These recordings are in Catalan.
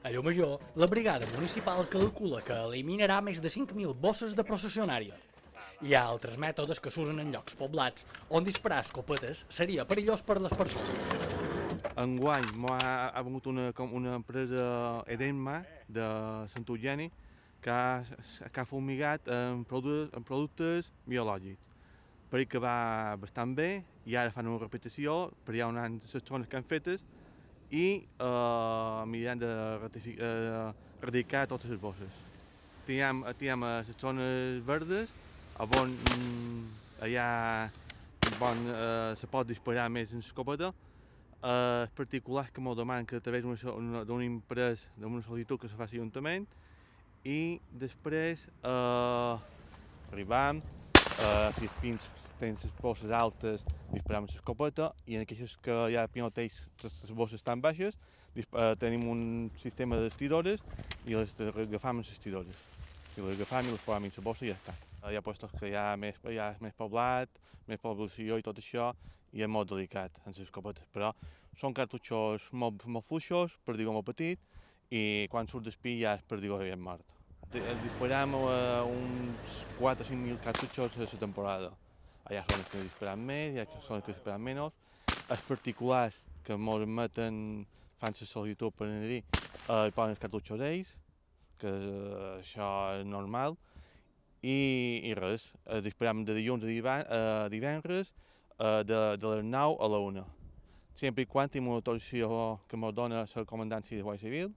A Llomajor, la brigada municipal calcula que eliminarà més de 5.000 bosses de processionària. Hi ha altres mètodes que s'usen en llocs poblats on disparar escopetes seria perillós per a les persones. Enguany ha vingut una empresa Edenma de Sant Eugeni que ha fumigat amb productes biològics. Per que va bastant bé i ara fan una repetició, per allà on hi ha les zones que han fetes i mirant d'erradicar totes les bosses. Tenim les zones verdes on allà se pot disparar més en escopeta. Els particulars que m'ho demanen que a través d'una empresa, d'una sol·licitud que se faci a l'Ajuntament i després arribam, si els pins tenen les bosses altes, disparam l'escopeta i en aquells que hi ha pinoteix les bosses tan baixes tenim un sistema d'estridores i les agafam amb les estridores. I les agafam i les posam en la bossa i ja està. Hi ha llocs que hi ha més poblat, més població i tot això, i és molt delicat en les escopetes, però són cartutxos molt fluixos, perdigó molt petit, i quan surt d'espí ja el perdigó ja és mort. Disparam uns 4 o 5.000 cartutxos a la temporada. Hi ha zones que disparam més, hi ha zones que disparam menys. Els particulars que ens admeten, fan la sol·licitud per anar-hi, hi posen els cartutxos ells, que això és normal, i res, disparam de dilluns a divendres, de les 9 a la 1. Sempre i quan tenim una autorizació que ens dona la comandància de Guàrdia Civil,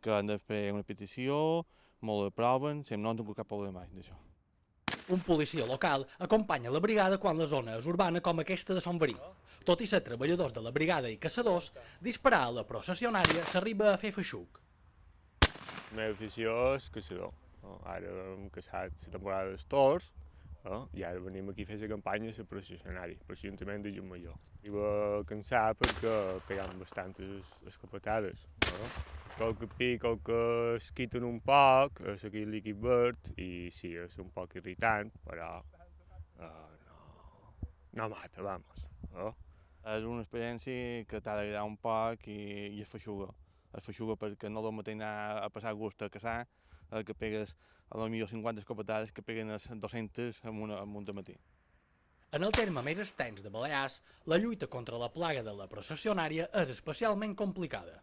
que han de fer una petició, molt aproven, no han tingut cap problema mai d'això. Un policia local acompanya la brigada quan la zona és urbana com aquesta de Sant Verí. Tot i ser treballadors de la brigada i caçadors, disparar a la processionària s'arriba a fer feixuc. La meva afició és caçador. Ara hem caçat la temporada dels tors i ara venim aquí a fer la campanya a la processionària, per l'Ajuntament de Llomajor. Arriba a cansar perquè pegam bastantes escopetades. Qualque pic, qualque es quiten un poc, aquell líquid verd, i sí, és un poc irritant, però no mata, vamos. És una experiència que t'ha d'agradar un poc i es feixuga. Es feixuga perquè no és el mateix anar a passar gust a caçar, que pegues a lo millor 50 escopetades que peguen a 200 en un dematí. En el terme més extens de Balears, la lluita contra la plaga de la processionària és especialment complicada.